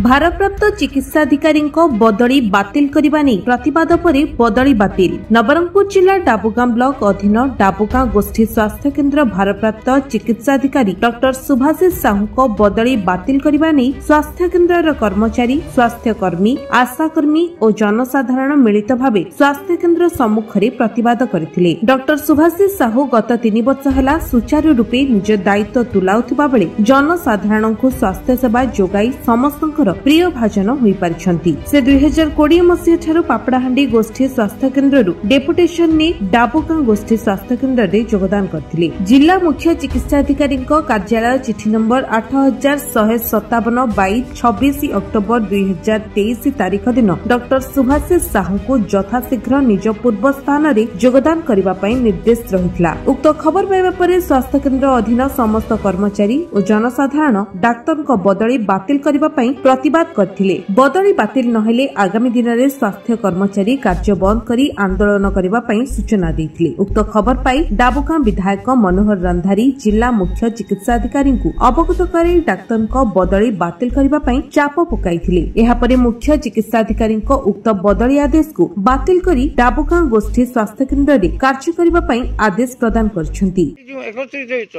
ଭାରପ୍ରାପ୍ତ ଚିକିତ୍ସାଧିକାରୀଙ୍କ ବଦଳି ବାତିଲ କରିବା ନେଇ ପ୍ରତିବାଦ ପରେ ବଦଳି ବାତିଲ। ନବରଙ୍ଗପୁର ଜିଲ୍ଲା ଡାବୁଗାଁ ବ୍ଲକ ଅଧୀନ ଡାବୁଗାଁ ଗୋଷ୍ଠୀ ସ୍ୱାସ୍ଥ୍ୟକେନ୍ଦ୍ର ଭାରପ୍ରାପ୍ତ ଚିକିତ୍ସାଧିକାରୀ ଡକ୍ଟର ସୁଭାଶିଷ ସାହୁଙ୍କ ବଦଳି ବାତିଲ କରିବା ନେଇ ସ୍ୱାସ୍ଥ୍ୟକେନ୍ଦ୍ରର କର୍ମଚାରୀ, ସ୍ୱାସ୍ଥ୍ୟକର୍ମୀ, ଆଶାକର୍ମୀ ଓ ଜନସାଧାରଣ ମିଳିତ ଭାବେ ସ୍ୱାସ୍ଥ୍ୟକେନ୍ଦ୍ର ସମ୍ମୁଖରେ ପ୍ରତିବାଦ କରିଥିଲେ। ଡକ୍ଟର ସୁଭାଶିଷ ସାହୁ ଗତ 3 ବର୍ଷ ହେଲା ସୁଚାରୁ ରୂପେ ନିଜ ଦାୟିତ୍ୱ ତୁଲାଉଥିବା ବେଳେ ଜନସାଧାରଣଙ୍କୁ ସ୍ୱାସ୍ଥ୍ୟସେବା ଯୋଗାଇ ସମସ୍ତଙ୍କର ପ୍ରିୟ ଭାଜନ ହୋଇପାରିଛନ୍ତି। ସେ 2020 ମସିହାଠାରୁ ପାପଡ଼ାହାଣ୍ଡି ଗୋଷ୍ଠୀ ସ୍ୱାସ୍ଥ୍ୟକେନ୍ଦ୍ରରୁ ଡେପୁଟେସନ ନେଇ ଡାବୁଗାଁ ଗୋଷ୍ଠୀ ସ୍ୱାସ୍ଥ୍ୟକେନ୍ଦ୍ରରେ ଯୋଗଦାନ କରିଥିଲେ। ଜିଲ୍ଲା ମୁଖ୍ୟ ଚିକିତ୍ସାଧିକାରୀଙ୍କ କାର୍ଯ୍ୟାଳୟ ଚିଠି ନମ୍ବର 8157 ବାଇ 26 ଅକ୍ଟୋବର 2023 ତାରିଖ ଦିନ ଡକ୍ଟର ସୁଭାଶିଷ ସାହୁଙ୍କୁ ଯଥାଶୀଘ୍ର ନିଜ ପୂର୍ବ ସ୍ଥାନରେ ଯୋଗଦାନ କରିବା ପାଇଁ ନିର୍ଦ୍ଦେଶ ରହିଥିଲା। ଉକ୍ତ ଖବର ପାଇବା ପରେ ସ୍ୱାସ୍ଥ୍ୟକେନ୍ଦ୍ର ଅଧୀନ ସମସ୍ତ କର୍ମଚାରୀ ଓ ଜନସାଧାରଣ ଡାକ୍ତରଙ୍କ ବଦଳି ବାତିଲ କରିବା ପାଇଁ ପ୍ରତିବାଦ କରିଥିଲେ। ବଦଳି ବାତିଲ ନହେଲେ ଆଗାମୀ ଦିନରେ ସ୍ୱାସ୍ଥ୍ୟ କର୍ମଚାରୀ କାର୍ଯ୍ୟ ବନ୍ଦ କରି ଆନ୍ଦୋଳନ କରିବା ପାଇଁ ସୂଚନା ଦେଇଥିଲେ। ଉକ୍ତ ଖବର ପାଇ ଡାବୁଗାଁ ବିଧାୟକ ମନୋହର ରନ୍ଧାରୀ ଜିଲ୍ଲା ମୁଖ୍ୟ ଚିକିତ୍ସାଧିକାରୀଙ୍କୁ ଅବଗତ କରାଇ ଡାକ୍ତରଙ୍କ ବଦଳି ବାତିଲ କରିବା ପାଇଁ ଚାପ ପକାଇଥିଲେ। ଏହାପରେ ମୁଖ୍ୟ ଚିକିତ୍ସାଧିକାରୀଙ୍କ ଉକ୍ତ ବଦଳି ଆଦେଶକୁ ବାତିଲ କରି ଡାବୁଗାଁ ଗୋଷ୍ଠୀ ସ୍ୱାସ୍ଥ୍ୟକେନ୍ଦ୍ରରେ କାର୍ଯ୍ୟ କରିବା ପାଇଁ ଆଦେଶ ପ୍ରଦାନ କରିଛନ୍ତି। ଯେଉଁ ଏକତ୍ରିତ ହେଇଛ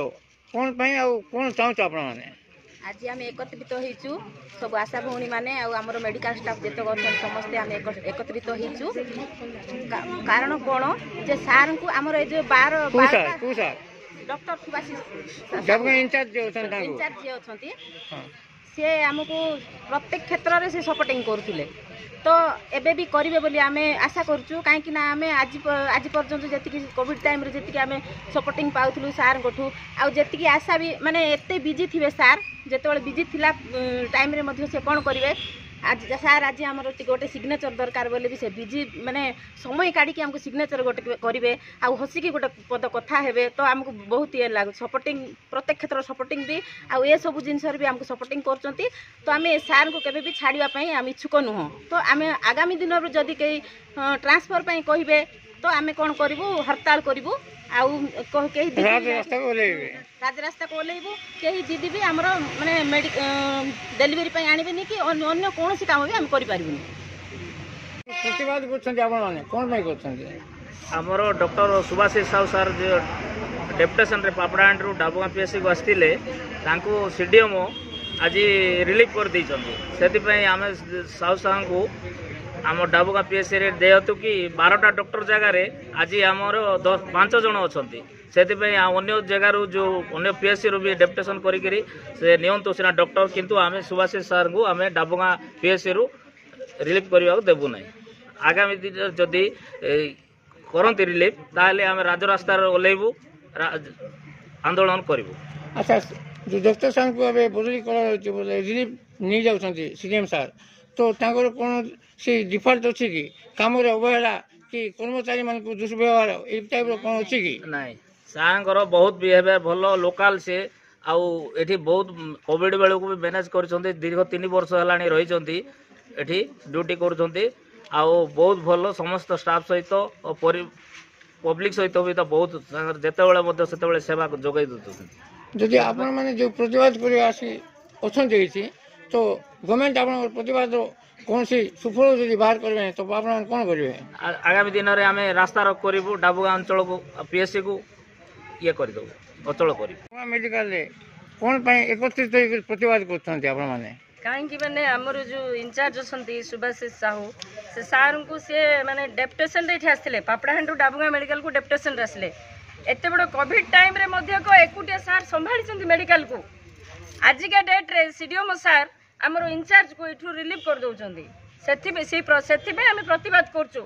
କ'ଣ ପାଇଁ ଆଉ କ'ଣ ଚାହୁଁଛ ଆପଣମାନେ? ଆଜି ଆମେ ଏକତ୍ରିତ ହେଇଛୁ ସବୁ ଆଶା ଭଉଣୀମାନେ ଆଉ ଆମର ମେଡ଼ିକାଲ ଷ୍ଟାଫ୍ ଯେତେକ ଅଛନ୍ତି ସମସ୍ତେ ଆମେ ଏକତ୍ରିତ ହେଇଛୁ। କାରଣ କ'ଣ ଯେ ସାର୍ଙ୍କୁ ଆମର ଏ ଯେଉଁ 12 କୋଉ ସାର୍? କୋଉ sir? Doctor Subhashish Dabugaon incharge ଯିଏ ଅଛନ୍ତି ତାଙ୍କୁ। ଇନଚାର୍ଜ ଯିଏ ଅଛନ୍ତି, ସେ ଆମକୁ ପ୍ରତ୍ୟେକ କ୍ଷେତ୍ରରେ ସେ ସପୋର୍ଟିଂ କରୁଥିଲେ, ତ ଏବେ ବି କରିବେ ବୋଲି ଆମେ ଆଶା କରୁଛୁ। କାହିଁକି ନା ଆମେ ଆଜି ପର୍ଯ୍ୟନ୍ତ ଯେତିକି କୋଭିଡ଼ ଟାଇମ୍ରେ ଯେତିକି ଆମେ ସପୋର୍ଟିଂ ପାଉଥିଲୁ ସାର୍ଙ୍କଠୁ, ଆଉ ଯେତିକି ଆଶା ବି, ମାନେ ଏତେ ବିଜି ଥିବେ ସାର୍, ଯେତେବେଳେ ବିଜି ଥିଲା ଟାଇମ୍ରେ ମଧ୍ୟ ସେ କ'ଣ କରିବେ, ଆଜି ସାର୍ ଆଜି ଆମର ଟିକେ ଗୋଟେ ସିଗ୍ନେଚର୍ ଦରକାର ବୋଲି ବି ସେ ବିଜି ମାନେ ସମୟ କାଢ଼ିକି ଆମକୁ ସିଗ୍ନେଚର୍ ଗୋଟେ କରିବେ ଆଉ ହସିକି ଗୋଟେ ପଦ କଥା ହେବେ, ତ ଆମକୁ ବହୁତ ଇଏ ଲାଗୁଛି। ସପୋର୍ଟିଂ ପ୍ରତ୍ୟେକ କ୍ଷେତ୍ରରେ ସପୋର୍ଟିଂ ବି ଆଉ ଏସବୁ ଜିନିଷରେ ବି ଆମକୁ ସପୋର୍ଟିଂ କରୁଛନ୍ତି, ତ ଆମେ ସାର୍ଙ୍କୁ କେବେ ବି ଛାଡ଼ିବା ପାଇଁ ଆମେ ଇଚ୍ଛୁକ ନୁହଁ। ତ ଆମେ ଆଗାମୀ ଦିନରୁ ଯଦି କେହି ଟ୍ରାନ୍ସଫର୍ ପାଇଁ କହିବେ, ତ ଆମେ କ'ଣ କରିବୁ? ହରତାଳ କରିବୁ ଆଉ କେହି ଦିଦି ରାଜରାସ୍ତାକୁ ଓହ୍ଲେଇବେ। ରାଜରାସ୍ତାକୁ ଓହ୍ଲେଇବୁ। କେହି ଦିଦି ବି ଆମର ମାନେ ଡେଲିଭରି ପାଇଁ ଆଣିବେନି କି ଅନ୍ୟ କୌଣସି କାମ ବି ଆମେ କରିପାରିବୁନି। ପ୍ରତିବାଦ କରୁଛନ୍ତି ଆପଣମାନେ, କ'ଣ ପାଇଁ କରୁଛନ୍ତି? ଆମର ଡକ୍ଟର ସୁଭାଶିଷ ସାହୁ ସାର୍ ଯେ ଡେପୁଟେସନରେ ପାପଡ଼ାହାଣ୍ଡିରୁ ଡାବୁଗାଁ ପିଏସ୍ସିକୁ ଆସିଥିଲେ, ତାଙ୍କୁ ସିଡିଏମ୍ଓ ଆଜି ରିଲିଫ୍ କରିଦେଇଛନ୍ତି। ସେଥିପାଇଁ ଆମେ ସାହୁ ସାର୍ଙ୍କୁ ଆମ ଡାବୁଗାଁ ପିଏସ୍ସିରେ ଯେହେତୁ କି 12ଟା ଡକ୍ଟର ଜାଗାରେ ଆଜି ଆମର 10 5 ଜଣ ଅଛନ୍ତି, ସେଥିପାଇଁ ଆଉ ଅନ୍ୟ ଜାଗାରୁ ଯେଉଁ ଅନ୍ୟ ପିଏସ୍ସିରୁ ବି ଡେପୁଟେସନ୍ କରିକିରି ସେ ନିଅନ୍ତୁ ସିନା ଡକ୍ଟର, କିନ୍ତୁ ଆମେ ସୁଭାଶିଷ ସାର୍ଙ୍କୁ ଆମେ ଡାବୁଗାଁ ପିଏସ୍ସିରୁ ରିଲିଫ୍ କରିବାକୁ ଦେବୁ ନାହିଁ। ଆଗାମୀ ଦିନରେ ଯଦି କରନ୍ତି ରିଲିଫ୍, ତାହେଲେ ଆମେ ରାଜରାସ୍ତାରେ ଓହ୍ଲେଇବୁ, ଆନ୍ଦୋଳନ କରିବୁ। ଆଚ୍ଛା, ଯେଉଁ ଡକ୍ଟର ସାର୍ଙ୍କୁ ଏବେ ବଦଳି କରାଯାଉଛି ବୋଲେ ରିଲିଫ୍ ନେଇଯାଉଛନ୍ତି ସି ଡି ଏମ୍ ସାର୍, ତ ତାଙ୍କର କ'ଣ ସେ ଡିଫଲ୍ଟ ଅଛି କି, କାମରେ ଅବହେଳା କି କର୍ମଚାରୀମାନଙ୍କୁ ଦୁର୍ବ୍ୟବହାର ଏଇ ଟାଇପ୍ର କ'ଣ ଅଛି କି? ନାଇଁ, ସାର୍ଙ୍କର ବହୁତ ବିହେଭିୟର ଭଲ, ଲୋକାଲ ସେ, ଆଉ ଏଠି ବହୁତ କୋଭିଡ଼ ବେଳକୁ ବି ମ୍ୟାନେଜ୍ କରିଛନ୍ତି। ଦୀର୍ଘ 3 ବର୍ଷ ହେଲାଣି ରହିଛନ୍ତି ଏଠି, ଡ୍ୟୁଟି କରୁଛନ୍ତି ଆଉ ବହୁତ ଭଲ ସମସ୍ତ ଷ୍ଟାଫ୍ ସହିତ ଓ ପବ୍ଲିକ୍ ସହିତ ବି ତ ବହୁତ ତାଙ୍କର ଯେତେବେଳେ ମଧ୍ୟ ସେତେବେଳେ ସେବା ଯୋଗାଇ ଦେଉଛନ୍ତି। ଯଦି ଆପଣମାନେ ଯେଉଁ ପ୍ରତିବାଦ କରି ଆସି ଅଛନ୍ତି ଏଇଠି, ତ ଗଭର୍ଣ୍ଣମେଣ୍ଟ ଆପଣଙ୍କର ପ୍ରତିବାଦର କୌଣସି ସୁଫଳ ଯଦି ବାହାର କରିବେ ନାହିଁ, ତ ଆପଣମାନେ କ'ଣ କରିବେ? ଆଗାମୀ ଦିନରେ ଆମେ ରାସ୍ତା ରୋକ କରିବୁ, ଡାବୁଗାଁ ଅଞ୍ଚଳକୁ ପିଏସ୍ସିକୁ ଇଏ କରିଦେବୁ, ଅଚଳ କରିବୁ। ମେଡ଼ିକାଲରେ କ'ଣ ପାଇଁ ଏକତ୍ରିତ ହେଇକି ପ୍ରତିବାଦ କରୁଛନ୍ତି ଆପଣମାନେ? କାହିଁକି ମାନେ ଆମର ଯେଉଁ ଇନଚାର୍ଜ ଅଛନ୍ତି ସୁଭାଶିଷ ସାହୁ, ସେ ସାର୍ଙ୍କୁ ସିଏ ମାନେ ଡେପୁଟେସନରେ ଏଠି ଆସିଥିଲେ। ପାପଡ଼ାହାଣ୍ଡିରୁ ଡାବୁଗାଁ ମେଡ଼ିକାଲକୁ ଡେପୁଟେସନରେ ଆସିଲେ। ଏତେ ବଡ଼ କୋଭିଡ଼ ଟାଇମ୍ରେ ମଧ୍ୟ ଏକୁଟିଆ ସାର୍ ସମ୍ଭାଳିଛନ୍ତି ମେଡ଼ିକାଲକୁ। ଆଜିକା ଡେଟ୍ରେ ସି ଡି ଓ ସାର୍ ଆମର ଇନଚାର୍ଜକୁ ଏଠୁ ରିଲିଫ୍ କରିଦେଉଛନ୍ତି। ସେଥିପାଇଁ ସେଇ ସେଥିପାଇଁ ଆମେ ପ୍ରତିବାଦ କରୁଛୁ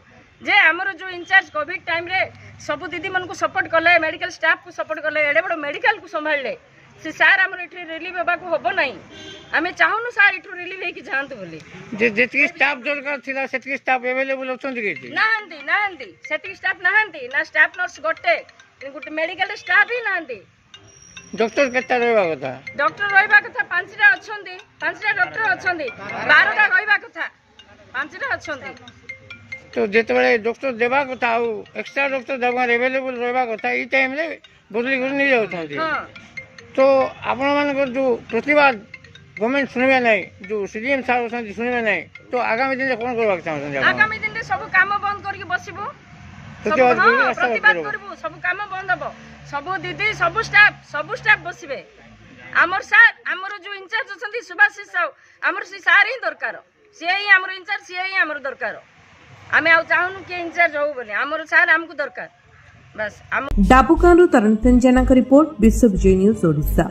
ଯେ ଆମର ଯେଉଁ ଇନଚାର୍ଜ କୋଭିଡ଼ ଟାଇମ୍ରେ ସବୁ ଦିଦିମାନଙ୍କୁ ସପୋର୍ଟ କଲେ, ମେଡ଼ିକାଲ ଷ୍ଟାଫ୍କୁ ସପୋର୍ଟ କଲେ, ଏଡ଼େ ବଡ଼ ମେଡ଼ିକାଲକୁ ସମ୍ଭାଳିଲେ, ସେ ସାର୍ ଆମର ଏଠି ରିଲିଫ୍ ହେବାକୁ ହେବ ନାହିଁ। ଆମେ ଚାହୁଁନୁ ସାର୍ ଏଠୁ ରିଲିଫ୍ ହେଇକି ଯାଆନ୍ତୁ ବୋଲି। ଯେ ଯେତିକି ଷ୍ଟାଫ୍ ଦରକାର ଥିଲା ସେତିକି ଷ୍ଟାଫ୍ ଆଭେଲେବୁଲ୍ ଅଛନ୍ତି କି ଏଠି? ନାହାନ୍ତି, ନାହାନ୍ତି, ସେତିକି ଷ୍ଟାଫ୍ ନାହାନ୍ତି। ନା ଷ୍ଟାଫ୍ ନର୍ସ ଗୋଟେ ଗୋଟେ ମେଡ଼ିକାଲରେ ଷ୍ଟାଫ୍ ହିଁ ନାହାନ୍ତି। ଡକ୍ଟର କେତେଟା ରହିବା କଥା? ଡକ୍ଟର ରହିବା କଥା 5ଟା ଅଛନ୍ତି, 5ଟା ଡକ୍ଟର ଅଛନ୍ତି। 12ଟା ରହିବା କଥା, 5ଟା ଅଛନ୍ତି। ତ ଯେତେବେଳେ ଡକ୍ଟର ଦେବା କଥା ଆଉ ଏକ୍ସଟ୍ରା ଡକ୍ଟର ଦେବାରେ ଆଭେଲେବୁଲ୍ ରହିବା କଥା, ଏଇ ଟାଇମ୍ରେ ବଦଳି କରି ନେଇଯାଉଛନ୍ତି। ହଁ। ତ ଆପଣମାନଙ୍କର ଯେଉଁ ପ୍ରତିବାଦ ଗଭର୍ଣ୍ଣମେଣ୍ଟ ଶୁଣିବେ ନାହିଁ, ଯେଉଁ ସିଡିଏମ୍ ସାର୍ ଅଛନ୍ତି ଶୁଣିବେ ନାହିଁ, ତ ଆଗାମୀ ଦିନରେ କ'ଣ କରିବାକୁ ଚାହୁଁଛନ୍ତି ଆପଣ? ଆଗାମୀ ଦିନରେ ସବୁ କାମ ବନ୍ଦ କରିକି ବସିବୁ। ପ୍ରତିବାଦ ସବୁ, କରିବେ, ହଁ, ରାସ୍ତା ପ୍ରତିବାଦ କରିବ। କରିବୁ। ସବୁ କାମ ବନ୍ଦ ହବ। ସବୁ ଦିଦି, ସବୁ ଷ୍ଟାଫ, ସବୁ ଷ୍ଟାଫ ବସିବେ। ଆମର ସାର୍, ଆମର ଯୋଉ ଇନଚାର୍ଜ ଅଛନ୍ତି ସୁଭାଷିଷ ସାହୁ, ଆମର ସେ ସାର୍ ହିଁ ଦରକାର। ସିଏ ହିଁ ଆମର ଇନଚାର୍ଜ, ସିଏ ହିଁ ଆମର ଦରକାର। ଆମେ ଆଉ ଚାହୁଁନୁ କିଏ ଇନଚାର୍ଜ ହଉ ବୋଲି। ଆମର ସାର୍ ଆମକୁ ଦରକାର, ବାସ୍ ଆମ। ଡାବୁଗାଁରୁ ତରଣୀତେନ ଜେନାଙ୍କ ରିପୋର୍ଟ, ବିଶ୍ୱବିଜୟୀ ନ୍ୟୁଜ୍ ଓଡ଼ିଶା।